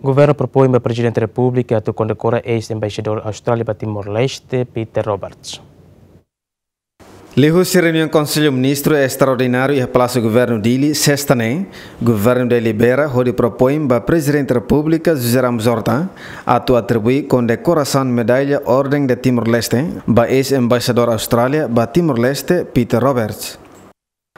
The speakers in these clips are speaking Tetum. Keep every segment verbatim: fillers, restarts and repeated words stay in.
Governu propoin ba Prezidente Repúblika atu kondekora eis-embaixadór Austrália ba Timor-Leste, Peter Roberts. Liuhusi reuniaun Konsellu Ministru estraordináriu iha Palásiu Governu Dili, sesta ne'e, Governu delibera hodi propoin ba Prezidente Repúblika José Ramos Horta atu atribui kondekorasaun medalla Orden de Timor-Leste ba eis-embaixadór Austrália ba Timor-Leste, Peter Roberts.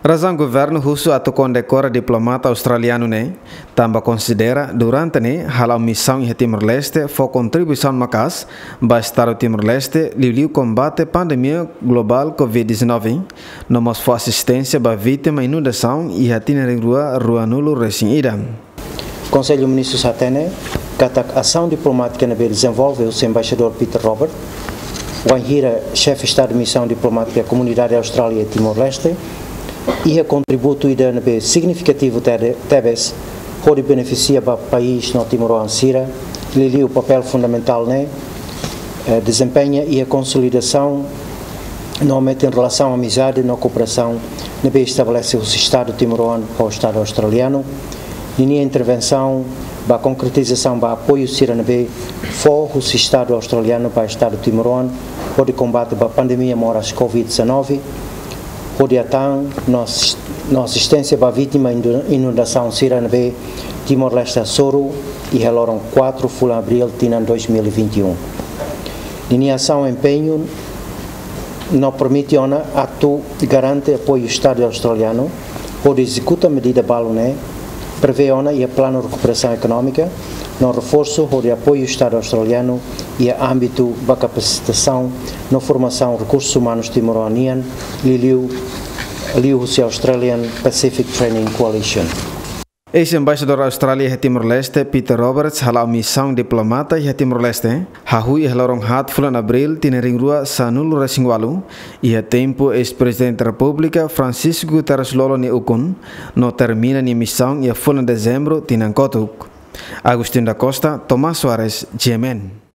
Razaun Governu husu atu kondekora diplomata australianu ne'e, tanba konsidera durante ne'e hala'o misaun iha Timor-Leste fó kontribuisaun maka'as ba Estadu Timor-Leste, liuliu kombate pandemia globál covid dezanove, no mós fó asisténsia ba vítima inundasaun iha tinan rihun rua ruanulu resin ida. Konsellu Ministrus hatene katak asaun diplomátika ne'ebé dezenvolve husi Embaixadór Peter Robert, wainhira Xefe Estadu Misaun Diplomátika Komunidade Austrália Timor-Leste, iha kontributu ida ne'ebé signifikativu tede-, tebes, hodi benefisia ba país no timoroan sira, liuliu papél fundamentál ne'e, eh, dezempeña iha konsolidasaun no metin relasaun amizade no kooperasaun ne'ebé estabelese husi Estadu timoroan ho Estadu australianu. Ninia intervensaun ba konkretizasaun ba apoiu sira ne'ebé fó husi Estadu australianu ba Estadu timoroan hodi kombate ba pandemia moras covid dezanove, hodi atan no as-, no asisténsia ba vítima indu-, inundasaun sira ne'ebé Timor-Leste hasoru iha loron quatro fulan Abríl tinan dois mil e vinte e um. Ninia asaun empeñu no permite ona atu garante apoiu Estadu australianu hodi ezekuta medida balu ne'e, prevee ona iha planu rekuperasaun ekonómika no reforsu hodi apoiu Estadu australianu iha ámbitu ba kapasitasaun no formasaun rekursus umanus timoroan nian, liuliu, liuhusi Australian Pacific Training Coalition. Eis-embaixadór Austrália iha Timor-Leste, Peter Roberts, hala'o misaun diplomata iha Timor-Leste, hahú iha loron haat fulan Abríl tinan rihun rua sanulu resin walu, iha tempu eis-Prezidente Repúblika Francisco Guterres Lú nia ukun, no termina nia misaun iha fulan Dezembru tinan kotuk. Agustin da Costa, Tomás Soares, G M N.